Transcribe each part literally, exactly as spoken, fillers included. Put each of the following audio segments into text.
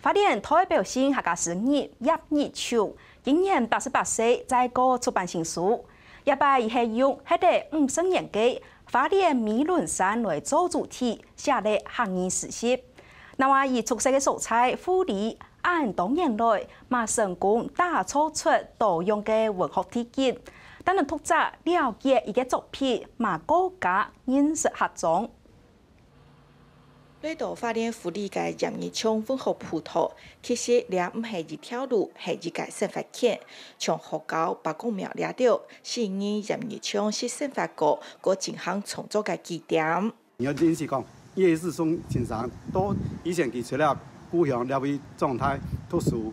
花蓮代表性客家詩人葉日松，今年八十八歲，再過出版新書。這擺佢係用歇了五十年个花蓮美崙山來做主題，寫了客語詩集。另外，佢出世个所在富里，恁多年來，嘛成功打造出多樣个文學地景，等等讀者了解佢个作品，嘛過加認識客庄。 來到花蓮富里个葉日松文學步道，其實這毋係一條路，係一個生活圈。像學校、伯公廟這兜，係葉日松識生活過，過進行創作个據點。你愛認識講，葉日松先生到以前佢出了故鄉這位長大讀書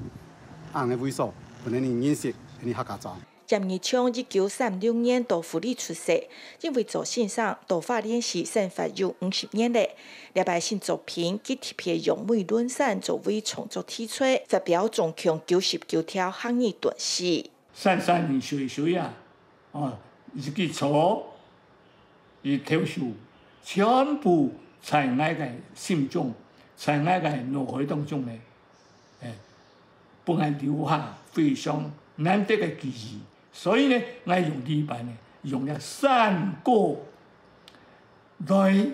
恁个位所，分人認識，分人客家庄。 葉日松一九三六年到富里出世，因為做先生到花蓮市生活有五十年了。這擺新作品，佢特別用美崙山作為創作題材，發表總共九十九條客語短詩。山山水水啊，哦，一支草，一條樹，全部在𠊎个心中，在𠊎个腦海當中呢。 欸，分𠊎留下非常難得个記憶。所以呢，𠊎用這版呢，用了山歌來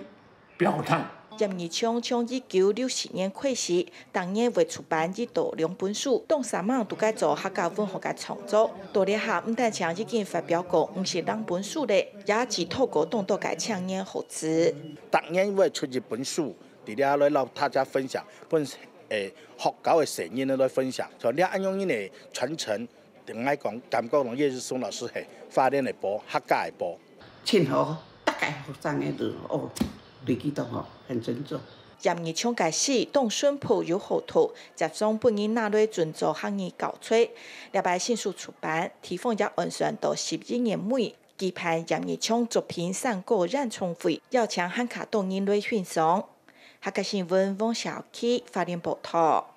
表達。葉日松從一九六四年開始，逐年會出版一到兩本書，當煞猛都在做客家文學个創作。到這下，毋單淨已經發表過五十零本書了，也寄託過當多个青年學子。逐年會出一本書， 佇這來摎大家分享，分，欸，學校个細人仔來分享，像這恁樣个傳承，對𠊎講，感覺講葉日松老師係花蓮个寶，客家个寶。盡好，逐個學生仔都，哦，對佢都好，很尊重。葉日松个詩當淳樸又好讀，輒常分人拿來準做客語教材。這擺新書出版，地方也安選到十一月尾， 舉辦葉日松作品山歌演唱會，邀請還較多人來欣賞。客家新聞，汪小琪，花蓮報導。